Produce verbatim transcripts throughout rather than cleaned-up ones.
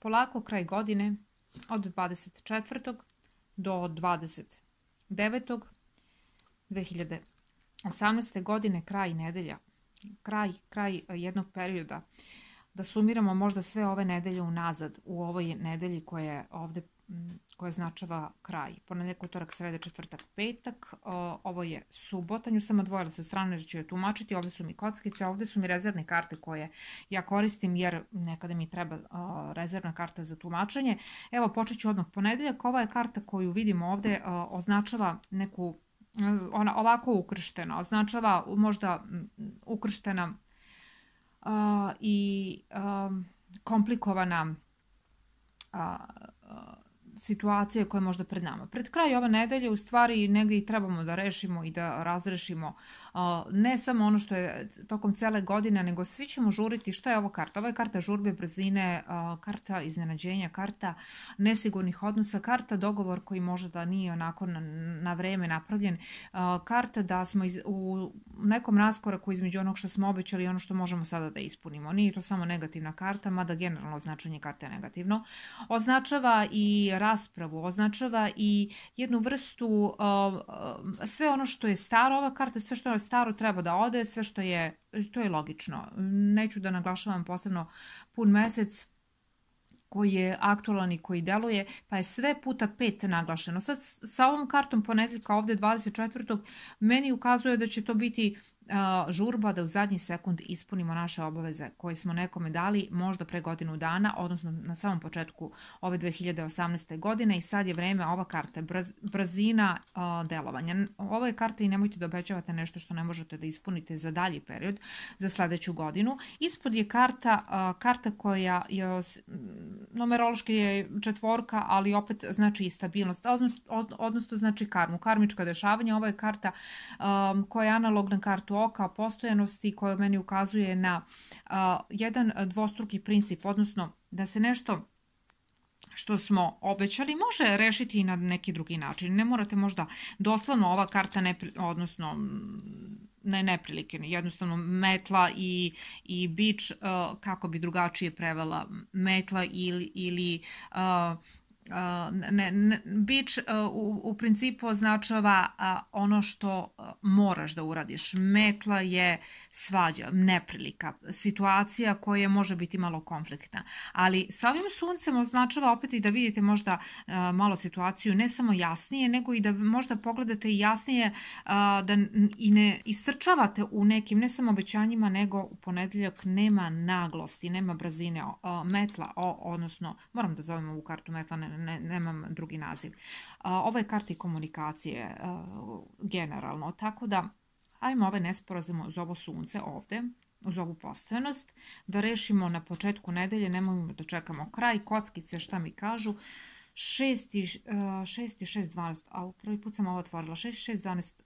polako kraj godine od dvadeset četvrtog do dvadeset devetog dve hiljade osamnaeste. godine, kraj nedelja, kraj, kraj jednog perioda. Da sumiramo možda sve ove nedelje unazad u ovoj nedelji koja je ovde, koja značava kraj. Ponedjeljak, utorak, sreda, četvrtak, petak. Ovo je subota, nju sam odvojila sa strane jer ću je tumačiti. Ovde su mi kockice, ovde su mi rezervne karte koje ja koristim jer nekada mi treba rezervna karta za tumačenje. Evo, počet ću odmah ponedjeljak. Ova je karta koju vidimo ovde, označava neku, ona ovako ukrštena, označava možda ukrštena i komplikovana situacije koje je možda pred nama. Pred kraj ove nedelje u stvari negdje i trebamo da rešimo i da razrešimo ne samo ono što je tokom cele godine, nego svi ćemo žuriti. Šta je ovo karta? Ovo je karta žurbe, brzine, karta iznenađenja, karta nesigurnih odnosa, karta dogovor koji možda da nije onako na, na vreme napravljen, karta da smo iz, u nekom raskoraku između onog što smo obećali i ono što možemo sada da ispunimo. Nije to samo negativna karta, mada generalno značenje karte je negativno. Označava i raspravu, označava i jednu vrstu, sve ono što je staro, ova karta, sve što je staro treba da ode, sve što je, to je logično. Neću da naglašavam posebno pun mesec koji je aktualan i koji deluje, pa je sve puta pet naglašeno. Sad sa ovom kartom ponedjeljka ovde dvadeset četvrtog meni ukazuje da će to biti žurba da u zadnji sekund ispunimo naše obaveze koje smo nekome dali možda pre godinu dana, odnosno na samom početku ove dve hiljade osamnaeste. godine i sad je vreme, ova karta, brzina delovanja. Ovo je karta i nemojte da obećavate nešto što ne možete da ispunite za dalji period, za sledeću godinu. Ispod je karta, karta koja je, numerološki je četvorka, ali opet znači i stabilnost, odnosno znači karmu, karmička dešavanja. Ovo je karta koja je analogna kartu oka, postojanosti, koja meni ukazuje na uh, jedan dvostruki princip, odnosno da se nešto što smo obećali može rešiti i na neki drugi način. Ne morate možda doslovno ova karta, ne, odnosno ne neprilike, jednostavno metla i, i bič, uh, kako bi drugačije prevela metla ili, ili uh, Uh, ne, ne, bič uh, u, u principu označava uh, ono što uh, moraš da uradiš. Metla je svađa, neprilika, situacija koja može biti malo konfliktna. Ali sa ovim suncem označava opet i da vidite možda uh, malo situaciju ne samo jasnije, nego i da možda pogledate i jasnije, uh, da i ne istrčavate u nekim ne samo obećanjima, nego u ponedjeljak nema naglosti, nema brzine. Uh, metla, o, odnosno, moram da zovem ovu kartu metla, ne, Ne, nemam drugi naziv. Ovo je karta i komunikacije generalno, tako da ajmo ove nesporazume uz ovo sunce ovde, uz ovu postojanost, da rešimo na početku nedelje, nemojmo da čekamo kraj. Kockice šta mi kažu? šest i šest, dvanaest, a prvi put sam ovo otvorila, šest, šest, dvanaest,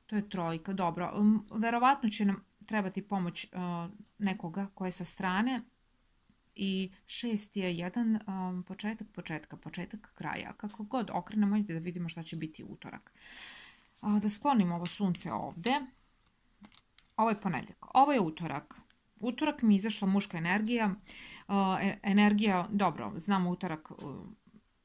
to je trojka, dobro, verovatno će nam trebati pomoć nekoga ko je sa strane. I šest je jedan um, početak početka, početak kraja. Kako god okrenemo, da vidimo šta će biti utorak. A, da sklonimo ovo sunce ovde. Ovo je ponedjeljak. Ovo je utorak. Utorak mi je izašla muška energija. Uh, energija, dobro, znamo utorak uh,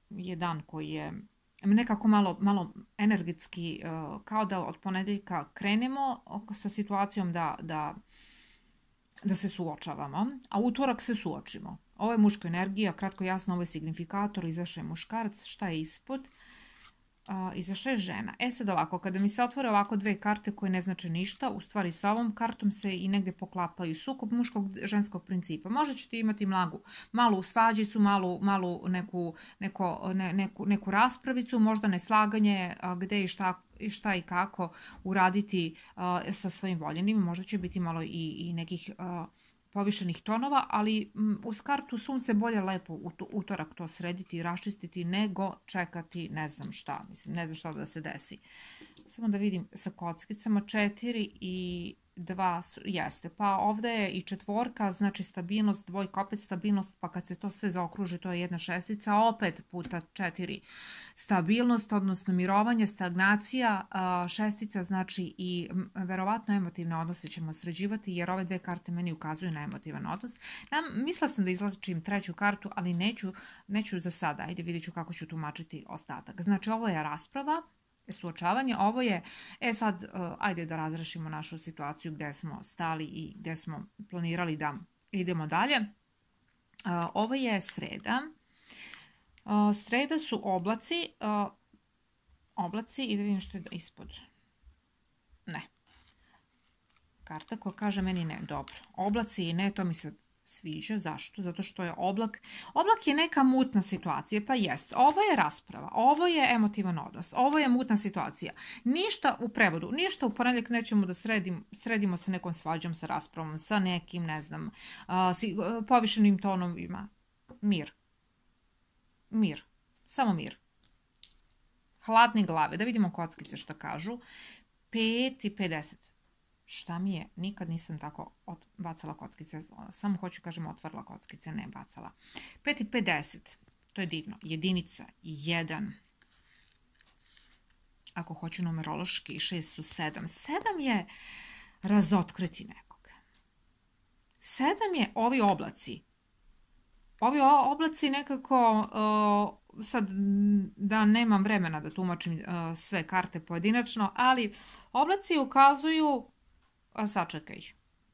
je dan koji je nekako malo, malo energetski, uh, kao da od ponedjeljka krenemo sa situacijom da... da da se suočavamo, a utorak se suočimo. Ovo je muška energija, kratko jasno, ovo je signifikator, izašao je muškarac, šta je ispod? Uh, izašao je žena. E sad ovako, kada mi se otvore ovako dve karte koje ne znače ništa, u stvari sa ovom kartom se i negde poklapaju sukob muškog ženskog principa. Možda ćete imati mlagu, malu svađicu, malu, malu neku, neko, ne, neku, neku raspravicu, možda neslaganje a, gde i šta, i šta i kako uraditi a, sa svojim voljenim. Možda će biti malo i, i nekih a, povišenih tonova, ali m, uz kartu sunce bolje lepo u utorak to srediti i raščistiti nego čekati ne znam šta, mislim, ne znam šta da se desi. Samo da vidim sa kockicama, četiri i dva, jeste. Pa ovde je i četvorka, znači stabilnost, dvojka opet stabilnost, pa kad se to sve zaokruži, to je jedna šestica, opet puta četiri stabilnost, odnosno mirovanje, stagnacija, šestica znači i verovatno emotivne odnose ćemo sređivati, jer ove dve karte meni ukazuju na emotivan odnos. Mislila sam da izlačim treću kartu, ali neću, neću za sada. Ajde, vidjet ću kako ću tumačiti ostatak. Znači, ovo je rasprava, suočavanje, ovo je, e sad, ajde da razrešimo našu situaciju gde smo stali i gde smo planirali da idemo dalje. Ovo je sreda. Sreda su oblaci, oblaci i da vidim što je ispod. Ne. Karta koja kaže meni ne, dobro. Oblaci i ne, to mi se sviđa. Zašto? Zato što je oblak, oblak je neka mutna situacija, pa jest. Ovo je rasprava, ovo je emotivan odnos, ovo je mutna situacija. Ništa u prevodu, ništa u ponedjeljak nećemo da sredim, sredimo sa nekom svađom, sa raspravom, sa nekim, ne znam, povišenim tonovima. Mir. Mir. Samo mir. Hladne glave. Da vidimo kockice što kažu. pet i pedeset. Šta mi je? Nikad nisam tako bacala kockice. Samo hoću kažem otvarala kockice, ne bacala. pet i pedeset. To je divno. Jedinica. jedan. Ako hoću numerološki, šest su sedam. sedam je razotkriti nekoga. sedam je ovi oblaci. Ovi oblaci nekako, uh, sad da nemam vremena da tumačim uh, sve karte pojedinačno, ali oblaci ukazuju, a sačekaj,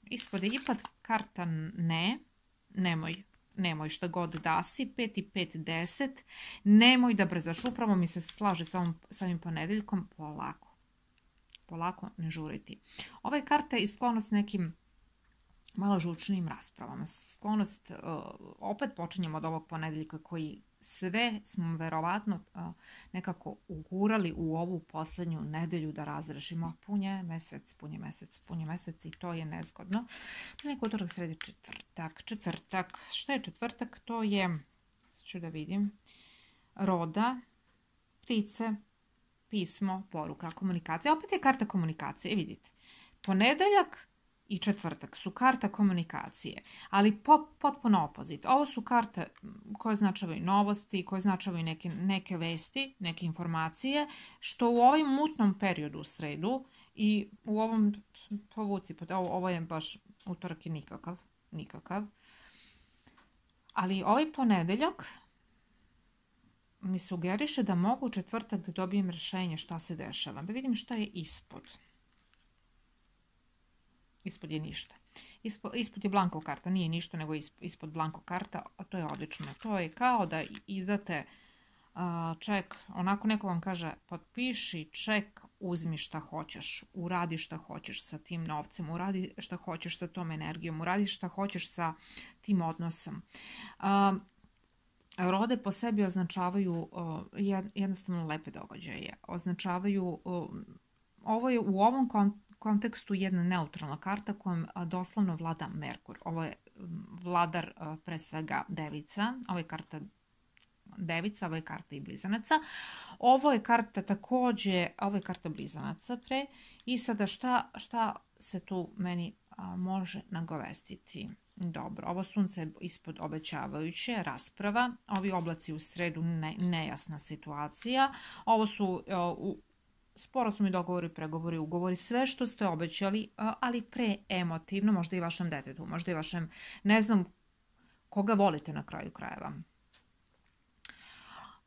ispod je ipak karta ne, nemoj, nemoj šta god da si, pet i pet, deset, nemoj da brzaš, upravo mi se slaže sa ovim, samim ponedeljkom, polako, polako ne žuriti. Ova je karta i sklonost nekim malo žučnijim raspravama. Sklonost, opet počinjemo od ovog ponedeljka koji sve smo verovatno nekako ugurali u ovu poslednju nedelju da razrešimo. Pun je mesec, pun je mesec, pun je mesec i to je nezgodno. To je neko utorak, sredi, četvrtak. Četvrtak. Šta je četvrtak? To je, sad ću da vidim, roda, ptice, pismo, poruka, komunikacija. Opet je karta komunikacije, vidite. Ponedeljak i četvrtak su karta komunikacije, ali po, potpuno opozit. Ovo su karte koje značavaju novosti, koje značavaju neke, neke vesti, neke informacije, što u ovom mutnom periodu u sredu i u ovom, povuci, ovo, ovo je baš utorak i nikakav, nikakav. Ali ovaj ponedeljak mi sugeriše da mogu u četvrtak da dobijem rješenje šta se dešava. Da vidim šta je ispod. Ispod je ništa. Ispod, ispod je blanko karta, nije ništa nego ispod blanko karta, a to je odlično. To je kao da izdate uh, ček, onako neko vam kaže potpiši ček, uzmi šta hoćeš, uradi šta hoćeš sa tim novcem, uradi šta hoćeš sa tom energijom, uradi šta hoćeš sa tim odnosom. Uh, Rode po sebi označavaju uh, jednostavno lepe događaje, označavaju, uh, ovo je u ovom kontekstu kontekstu jedna neutralna karta kojom doslovno vlada Merkur. Ovo je vladar pre svega devica, ovo je karta devica, ovo je karta i blizanaca. Ovo je karta takođe, ovo je karta blizanaca pre i sada šta, šta se tu meni a, može nagovestiti? Dobro, ovo sunce je ispod obećavajuće, rasprava, ovi oblaci u sredu ne, nejasna situacija, ovo su a, u sporazumi, dogovori, pregovori, ugovori, sve što ste obećali, ali preemotivno, možda i vašem detetu, možda i vašem, ne znam koga volite na kraju krajeva.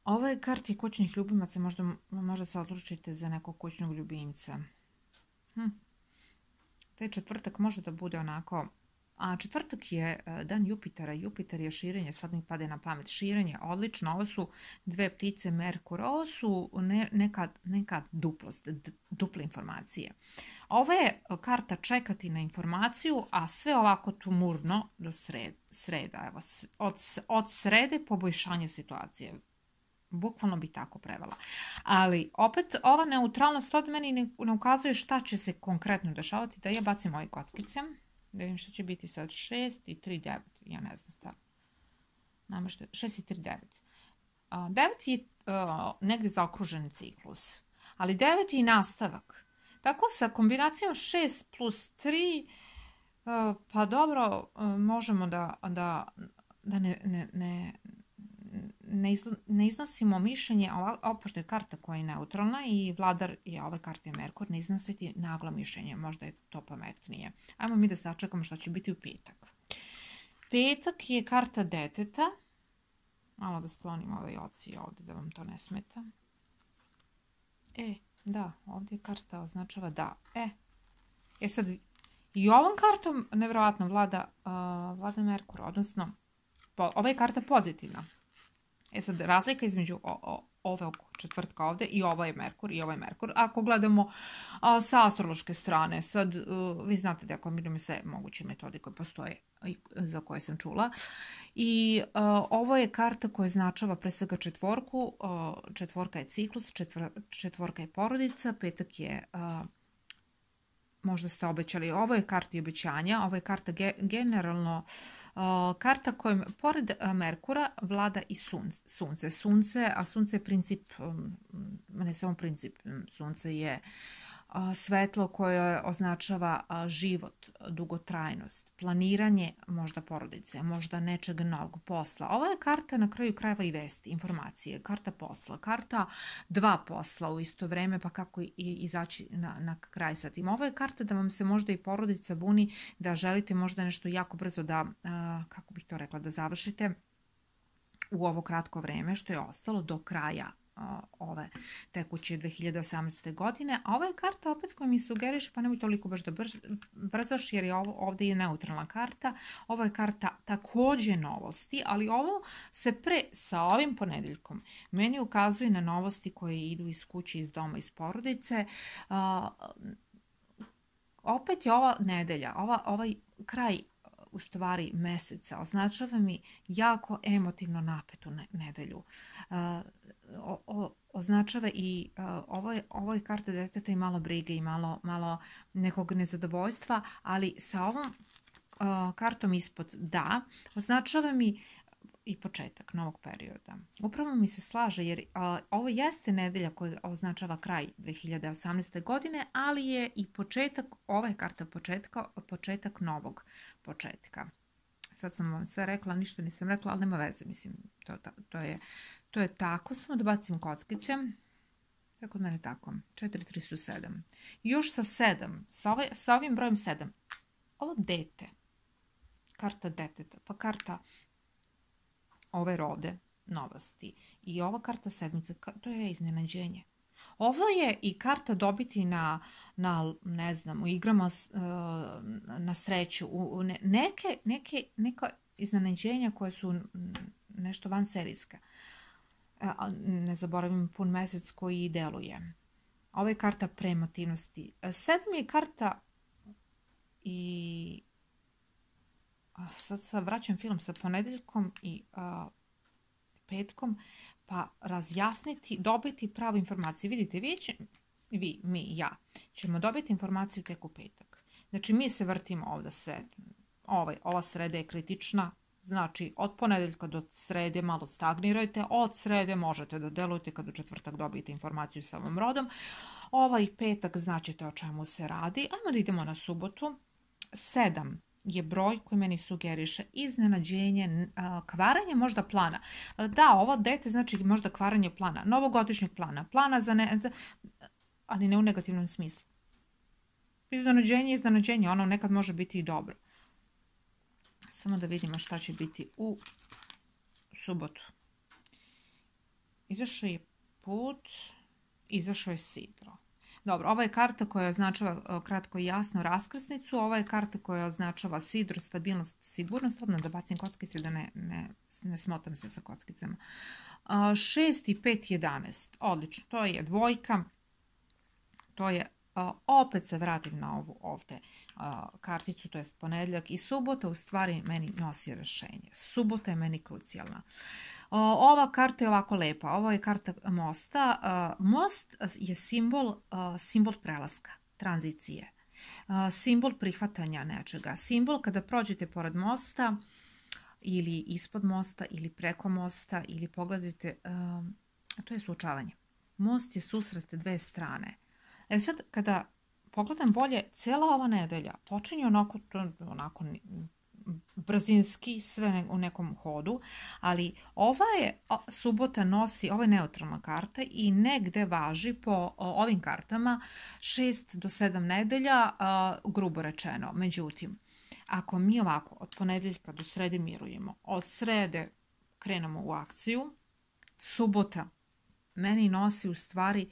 Ovo je karti kućnih ljubimaca, možda, možda se odlučite za nekog kućnog ljubimca. Hm. Taj četvrtak može da bude onako, a četvrtak je dan Jupitera, Jupiter je širenje, sad mi pade na pamet, širenje, odlično, ovo su dve ptice Merkur, ovo su ne, neka, neka duplost, duple informacije. Ovo je karta čekati na informaciju, a sve ovako tumurno do sred, sreda, evo, od, od srede poboljšanje situacije. Bukvalno bi tako prevela. Ali opet ova neutralnost od meni ne, ne ukazuje šta će se konkretno dešavati, da ja bacim ove kockice. Da vidim što će biti sad, šest i tri, devet, ja ne znam stavno. Nama što je, šest i tri, devet. devet je uh, negdje zaokružen ciklus, ali devet je i nastavak. Tako sa kombinacijom šest plus tri, pa dobro, možemo da, da, da ne, ne, ne, ne iznosimo mišljenje, ovo pošto je karta koja je neutralna i vladar je ove karte Merkur, ne iznositi naglo mišljenje, možda je to pametnije. Ajmo mi da sačekamo što će biti u petak. Petak je karta deteta, malo da sklonim ovaj oci ovdje da vam to ne smeta. E, da, ovdje karta označava da. E, e sad, i ovom kartom nevjerojatno vlada, uh, vlada Merkur, odnosno po, ova je karta pozitivna. E sad, razlika između o, o, ovog četvrtka ovdje i ovo je Merkur i ovo je Merkur. Ako gledamo a, sa astrološke strane, sad uh, vi znate da ja kombinujem sve moguće metode koje postoje i za koje sam čula. I uh, ovo je karta koja značava pre svega četvorku. Uh, četvorka je ciklus, četvr, četvorka je porodica, petak je... Uh, možda ste obećali, ovo je karta i obećanja, ovo je karta ge, generalno uh, karta kojom pored Merkura vlada i sunce. Sunce, sunce a sunce je princip, um, ne samo princip, sunce je uh, svetlo koje označava uh, život, dugotrajnost, planiranje možda porodice, možda nečeg novog posla. Ovo je karta na kraju krajeva i vesti, informacije, karta posla, karta dva posla u isto vreme, pa kako i izaći na, na kraj sa tim. Ovo je karta da vam se možda i porodica buni, da želite možda nešto jako brzo da, uh, kako bih to rekla, da završite u ovo kratko vreme što je ostalo do kraja ove tekuće dve hiljade osamnaeste. godine, a ova je karta opet koja mi sugeriše, pa nemoj toliko baš da brzaš, jer je ovo ovdje je neutralna karta. Ovo je karta također novosti, ali ovo se pre sa ovim ponedeljkom meni ukazuje na novosti koje idu iz kuće, iz doma, iz porodice. Uh, opet je ova nedelja, ova, ovaj kraj u stvari meseca označava mi jako emotivno napetu nedelju. Uh, o, o, označava i uh, ovo, je, ovo je karta deteta i malo brige i malo, malo nekog nezadovoljstva, ali sa ovom uh, kartom ispod da, označava mi i početak novog perioda. Upravo mi se slaže jer uh, ovo jeste nedelja koja označava kraj dve hiljade osamnaeste. godine, ali je i početak, ova je karta početka, početak novog početka. Sad sam vam sve rekla, ništa nisam rekla, ali nema veze, mislim, to, to, to, je, to je tako. Samo da bacim kockice. Tako od mene tako. četiri, tri su sedam. Još sa sedam, sa, ovaj, sa ovim brojem sedam. Ovo dete, karta deteta, pa karta ove rode, novosti. I ova karta sedmice, to je iznenađenje. Ovo je i karta dobiti na, na ne znam, u igrama na sreću, u neke, neke, neka iznenađenja koje su nešto vanserijska. Ne zaboravim pun mesec koji deluje. Ovo je karta premotivnosti. Sedam je karta i sad se vraćam film sa ponedeljkom i uh, petkom, pa razjasniti, dobiti pravu informaciju. Vidite, vi, će, vi, mi, ja, ćemo dobiti informaciju tek u petak. Znači, mi se vrtimo ovdje sve. Ovaj, ova sreda je kritična, znači od ponedeljka do srede malo stagnirajte, od srede možete da delujete kad u četvrtak dobijete informaciju sa ovom rodom. Ovaj petak znaćete o čemu se radi. Ajmo da idemo na subotu. Sedam je broj koji meni sugeriše iznenađenje, kvaranje možda plana. Da, ovo dete znači možda kvaranje plana, novogodišnjeg plana, plana za ne, za, ali ne u negativnom smislu. Iznenađenje, iznenađenje, ono nekad može biti i dobro. Samo da vidimo šta će biti u subotu. Izašao je put, izašao je sidro. Dobro, ova je karta koja označava kratko i jasno raskrsnicu, ova je karta koja označava sidro, stabilnost, sigurnost, odmah da bacim kockice da ne, ne, ne smotam se sa kockicama. šest i pet, jedanaest, odlično, to je dvojka, to je, opet se vratim na ovu ovdje karticu, to je ponedjeljak i subota, u stvari meni nosi rješenje. Subota je meni krucijalna. Ova karta je ovako lepa, ovo je karta mosta. Most je simbol, simbol prelaska, tranzicije, simbol prihvatanja nečega, simbol kada prođete pored mosta ili ispod mosta ili preko mosta ili pogledajte, to je suočavanje. Most je susret dve strane. E sad, kada pogledam bolje, cijela ova nedelja počinje onako, onako brzinski, sve u nekom hodu, ali ova je subota nosi, ovo je neutralna karta i negde važi po ovim kartama šest do sedam nedelja, grubo rečeno. Međutim, ako mi ovako od ponedeljka do srede mirujemo, od srede krenemo u akciju, subota meni nosi u stvari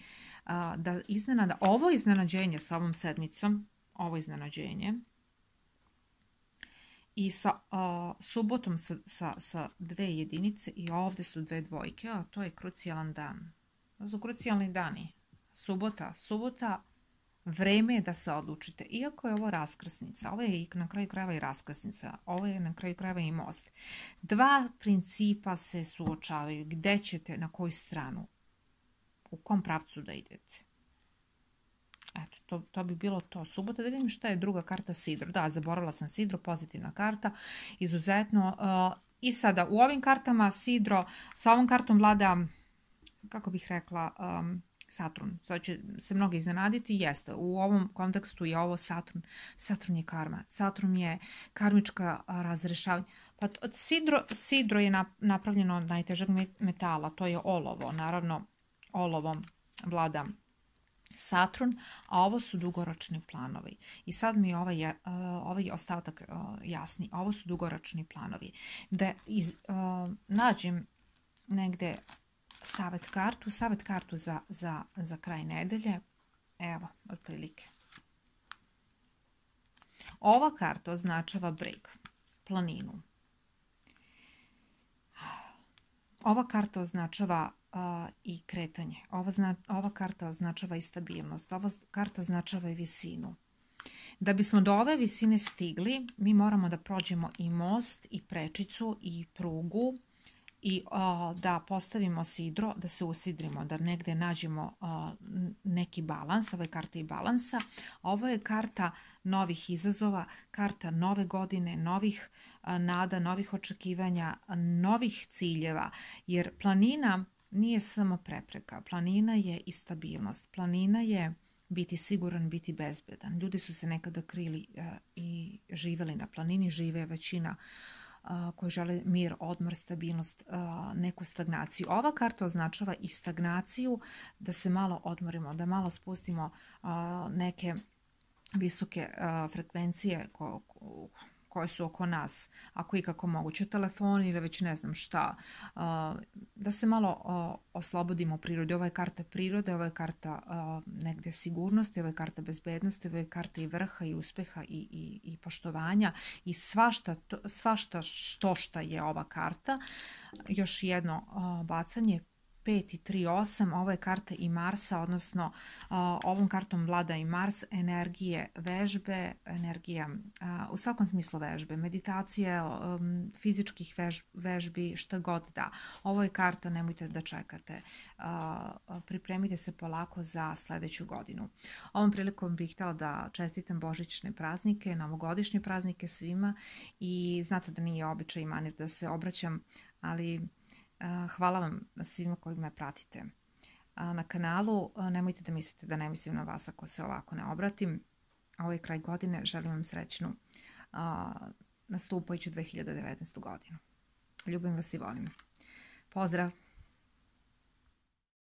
da iznenada, ovo iznenađenje sa ovom sedmicom, ovo iznenađenje, i sa uh, subotom sa, sa, sa dve jedinice i ovdje su dve dvojke, a to je krucijalan dan. To su krucijalni dani. Subota, subota, vreme je da se odlučite. Iako je ovo raskrsnica, ovo je na kraju krajeva i raskrsnica, ovo je na kraju krajeva i most. Dva principa se suočavaju. Gde ćete, na koju stranu, u kom pravcu da idete. Eto, to, to bi bilo to. Subota, da vidim šta je druga karta, sidro. Da, zaboravila sam sidro, pozitivna karta, izuzetno. Uh, I sada, u ovim kartama sidro, sa ovom kartom vlada, kako bih rekla, um, Saturn. Sad će se mnogo iznenaditi, jeste. U ovom kontekstu je ovo Saturn. Saturn je karma. Saturn je karmička razrešavanja. Pa od sidro, sidro je napravljeno od najtežeg metala, to je olovo. Naravno, olovom vlada Saturn, a ovo su dugoročni planovi. I sad mi ovaj, uh, ovaj ostatak uh, jasni. Ovo su dugoročni planovi. Da iz, uh, nađem negde savet kartu, savet kartu za, za, za kraj nedelje. Evo, otprilike. Ova karta označava breg, planinu. Ova karta označava uh, i kretanje. Ova, zna, ova karta označava i stabilnost. Ova karta označava i visinu. Da bismo do ove visine stigli, mi moramo da prođemo i most, i prečicu, i prugu, i uh, da postavimo sidro, da se usidrimo, da negde nađemo uh, neki balans. Ovo je karta i balansa. Ovo je karta novih izazova, karta nove godine, novih uh, nada, novih očekivanja, novih ciljeva, jer planina nije samo prepreka. Planina je i stabilnost. Planina je biti siguran, biti bezbedan. Ljudi su se nekada krili uh, i živeli na planini, žive većina Uh, koji žele mir, odmor, stabilnost, uh, neku stagnaciju. Ova karta označava i stagnaciju, da se malo odmorimo, da malo spustimo uh, neke visoke uh, frekvencije ko, ko, koje su oko nas, ako i kako moguće, telefon ili već ne znam šta, uh, da se malo uh, oslobodimo u prirodi. Ovo je karta prirode, ovo je karta uh, negde sigurnosti, ovo je karta bezbednosti, ovo je karta i vrha i uspeha i, i, i poštovanja i svašta, to, svašta što šta je ova karta. Još jedno uh, bacanje, pet i tri, osam, ovo je karta i Marsa, odnosno uh, ovom kartom vlada i Mars, energije vežbe, energija uh, u svakom smislu vežbe, meditacije, um, fizičkih vež, vežbi, šta god da. Ovo je karta, nemojte da čekate, uh, pripremite se polako za sledeću godinu. Ovom prilikom bih htjela da čestitam božićne praznike, novogodišnje praznike svima i znate da nije običaj i manir da se obraćam, ali hvala vam svima koji me pratite na kanalu. Nemojte da mislite da ne mislim na vas ako se ovako ne obratim. Ovo je kraj godine. Želim vam srećnu nastupajuću dve hiljade devetnaestu godinu. Ljubim vas i volim. Pozdrav!